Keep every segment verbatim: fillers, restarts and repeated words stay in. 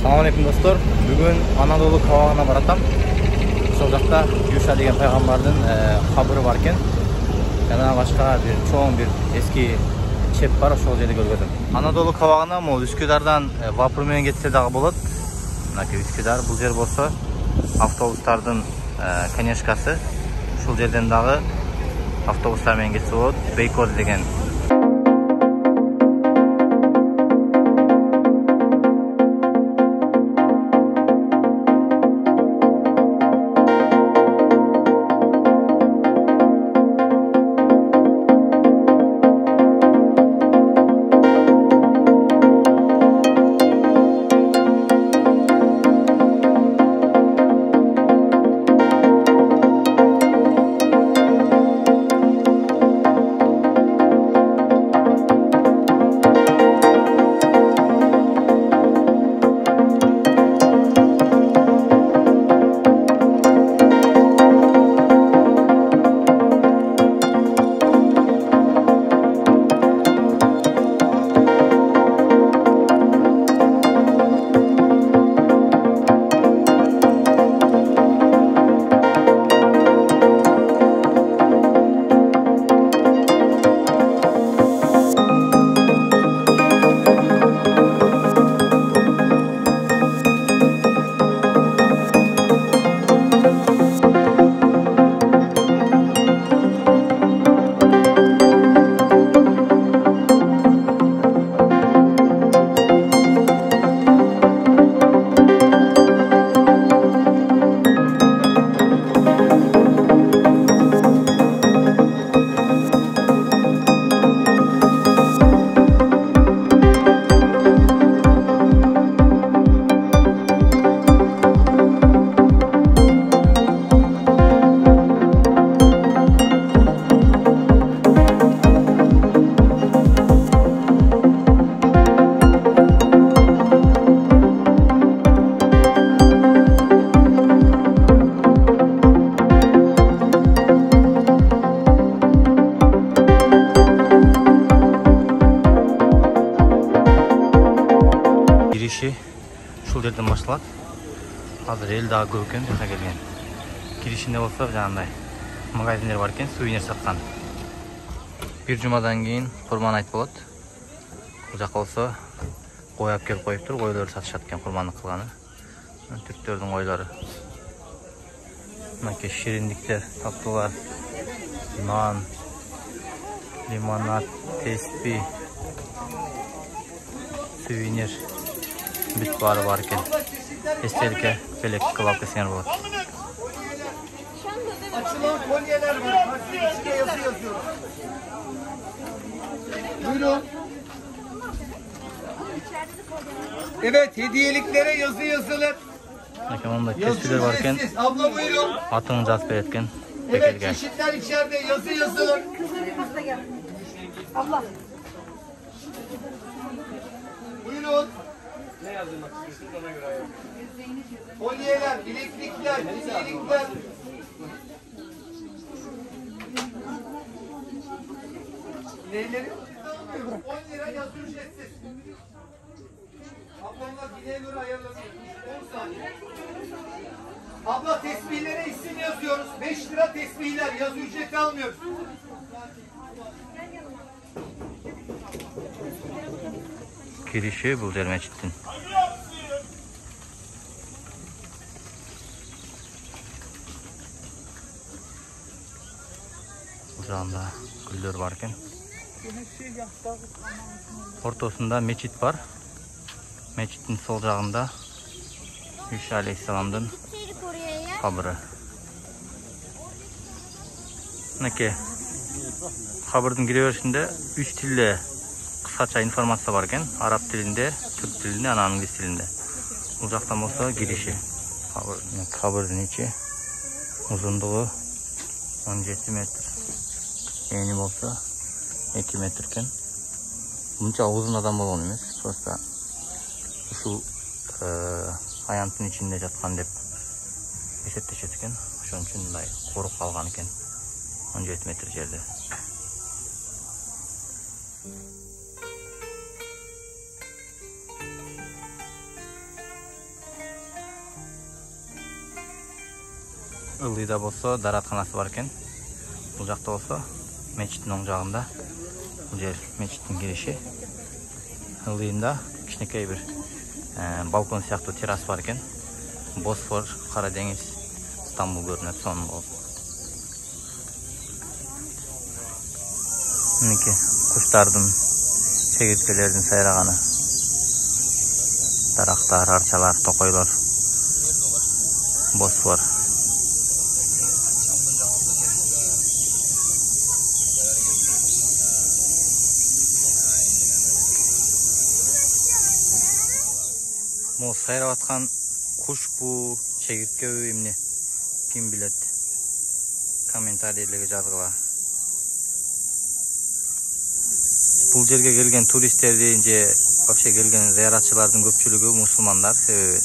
Assalamu alaikum достор. Бүгүн Анадолу кабагына баратам. Ошол жакта Юша деген пайгамбардын кабыры бар экен. Жана башка бир чоң бир эски чеп бар, ошол жерде көргөзөм. Анадолу кабагына могу Үскүдардан вапур менен кетсе дагы болот. Мынакей Үскүдар, бул жер болсо автобустардын конечкасы. Ушул жерден дагы автобустар менен кетсе болот. Бейкоз деген ушул жерден башталат. Азыр эл дагы көп экен жака келген. Киришинде болсо жанагындай магазиндер бар экен, сувенир саткан. Бир жумадан кийин курман айт болот. Бул жака болсо кой алып келип коюптур, койлорду сатышат экен курмандык кылганы. Түрктөрдүн койлору. Мынакей шириндиктер, таттуулар, нан, лимонад, теспи, сувенир бүт баары бар экен. Эстеликке белек кылып кетсеңер болот. Açılan kolyeler var. İçine yazı yazıyor. Buyurun. Evet, hediyeliklere yazı yazılır. Tespiler var eкен. Abla buyurun. Atını жазып берет экен. Evet, çeşitler içeride yazı yazılır. Abla. Buyurun. Ne yazdırmak istiyorsunuz ona göre ayarlayın. Kolyeler, bileklikler, hediyelikler. Neyleri? on lira yazı ücretsiz. Ablamlar bileğe göre ayarlanıyor. on saniye. Abla tesbihlere isim yazıyoruz. beş lira tesbihler. Yazı ücreti almıyoruz. Kirişi bul jер мечиттин. Бул жагында гүлдөр бар экен. Ортосунда мечит бар. Мечиттин сол жагында Иса алейхисаламдын кабыры. Мынакей кабырдын кире беришинде үч тилде кыскача информация бар экен. Араб тилинде, түрк тилинде, анан англис тилинде. Бул жактан болсо кириши. Кабырдын ичи узундугу он жети метр. Эни болсо эки метр экен. Мынча узун адам болгон эмес. Просто ушул аянттын ичинде жаткан деп эсептешет экен. Ошон үчүн мындай коруп калган экен. он жети метр жерде. Ылдыйда болсо даратканасы бар экен. Бул жакта болсо мечиттин оң жагында. Бул жер мечиттин кириши. Ылдыйында кичинекей бир балкон сыяктуу террас бар экен. Босфор, Кара деңиз, Стамбул көрүнөт сонун болуп. Мыники куштардын, чегирткелердин сайраганы. Дарактар, арчалар, токойлор. Босфор. Могу сайрап аткан кушпу, чегирткеби эмне? Ким билет? Комментарийлерге жазгыла. Бул жерге келген туристтердин же вообще келген зыяратчылардын көпчүлүгү мусулмандар. Себеби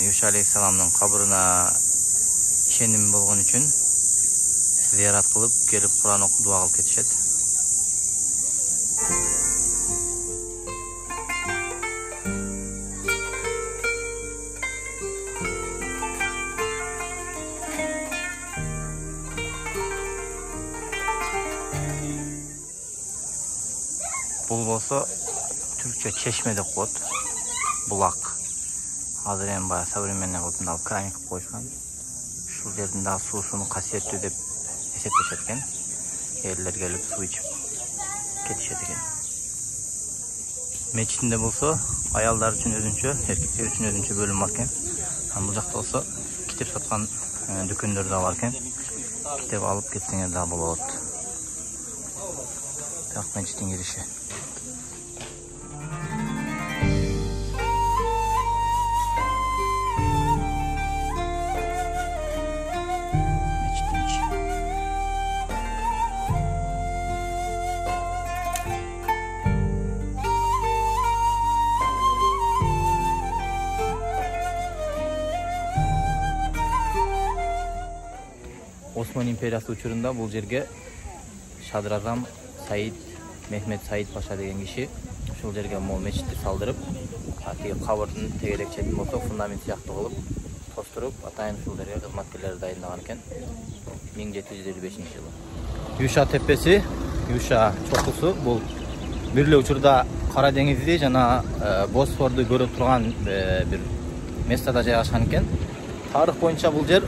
Юша алейхисаламдын кабырына ишеним болгон үчүн зыярат кылып, келип Куран окуп дуа кылып кетишет. Бул болсо түркчө чешме деп коет. Булак. Азыр эми баягы современный кылып алып краник кылып коюшкан. Ушул жердин дагы суусуну касиеттүү деп эсептешет экен. Эрлер келип суу ичип кетишет экен. Мечитинде болсо аялдар үчүн өзүнчө, эркектер үчүн өзүнчө бөлүм бар экен. Бул жакта болсо китеп саткан дүкөндөр да бар экен. Китеп алып кетсеңер да болот. Так мечиттин кириши. Осман империясы учурунда бул жерге Шадразам Саид Мехмет Саид Паша деген киши ушул жерге мол мечитти салдырып, атиги кабырдын тегерек четин болсо фундамент сыяктуу кылып тостуруп, атайын ушул жерге кызматкерлер дайындаган экен миң жети жүз элүү бешинчи жылы. Юша тепеси, Юша чокусу бул бир эле учурда Кара деңизди жана Босфорду көрө турган бир местада жайгашкан экен. Тарых боюнча бул жер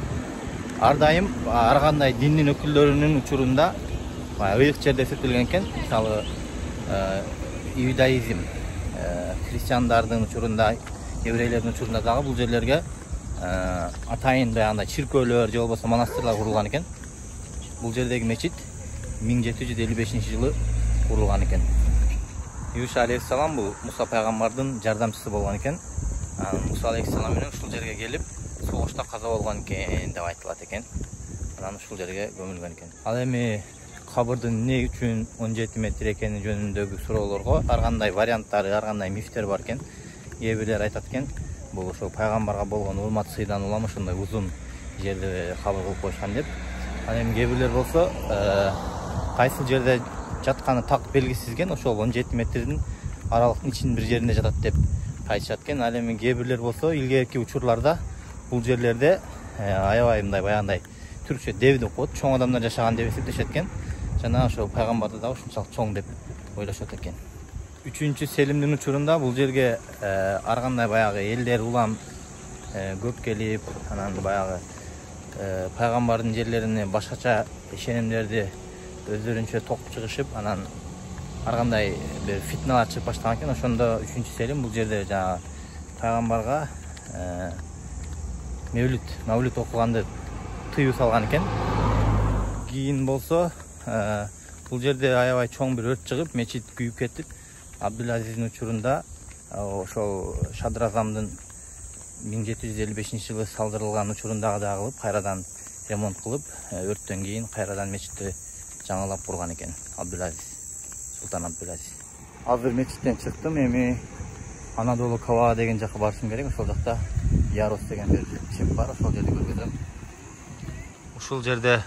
ар дайым ар кандай диндин өкүлдөрүнүн учурунда ыйык жерде эсептелген экен. Мисалы иудаизм, христиандардын учурунда, еврейлердин учурунда дагы бул жерлерге атайын баягындай чиркөөлөр же болбосо монастырлар курулган экен. Бул жердеги мечит миң жети жүз элүү бешинчи жылы курулган экен. Юша алейхиссалам бул Муса пайгамбардын жардамчысы болгон экен. Муса алейхиссалам менен ушул жерге келип согушта каза болгон экен деп айтылат экен. Анан ушул жерге көмүлгөн экен. Ал эми кабырдын эмне үчүн он жети метр экени жөнүндөгү суроолорго ар кандай варианттары, ар кандай мифтер бар экен. Кээ бирлер айтат экен, бул ошол пайгамбарга болгон урмат сыйдан улам ошондой узун жерди кабыр кылып коюшкан деп. Ал эми кээ бирлер болсо кайсы жерде жатканы так белгисиз экен, ошол он жети метрдин аралыктын ичинин бир жеринде жатат деп айтышат экен. Ал эми кээ бирлер болсо илгерки учурларда бул жерлерде аябай мындай баягындай түркчө дев деп коет, чоң адамдар жашаган деп эсептешет экен. Жана ошол пайгамбарды да ушунчалык чоң деп ойлошот экен. үчүнчү Селимдин учурунда бул жерге ар кандай баягы элдер улам көп келип, анан баягы пайгамбардын жерлерине башкача ишенимдерди өздөрүнчө токтуп чыгышып, анан ар кандай бир фитналар чыгып баштаган экен. Ошондо үчүнчү Селим бул жерде жана пайгамбарга Мевлүт, Мавлүт окуганды тыюу салган экен. Кийин болсо бул жерде аябай чоң бир өрт чыгып, мечит күйүп кетип, Абдулазиздин учурунда ошол Шадразамдын миң жети жүз элүү бешинчи жылы салдырылган учурундагы да кылып, кайрадан ремонт кылып, өрттөн кийин кайрадан мечитти жаңылап курган экен Абдулазиз, Султан Абдулазиз. Азыр мечиттен чыктым, эми Анадолу Кава деген жака барышым керек. Ошол жакта Ярос деген бир чеп бар, ошол жерди көргөзөм. Ушул жерде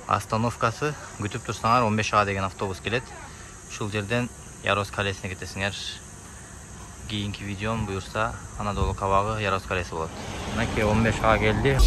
остановкасы, күтүп турсаңар он беш А деген автобус келет. Ушул жерден Ярос калесине кетесиңер. Кийинки видеом буюрса Анадолу Кавагы Ярос калеси болот. Мынакей он беш А келди.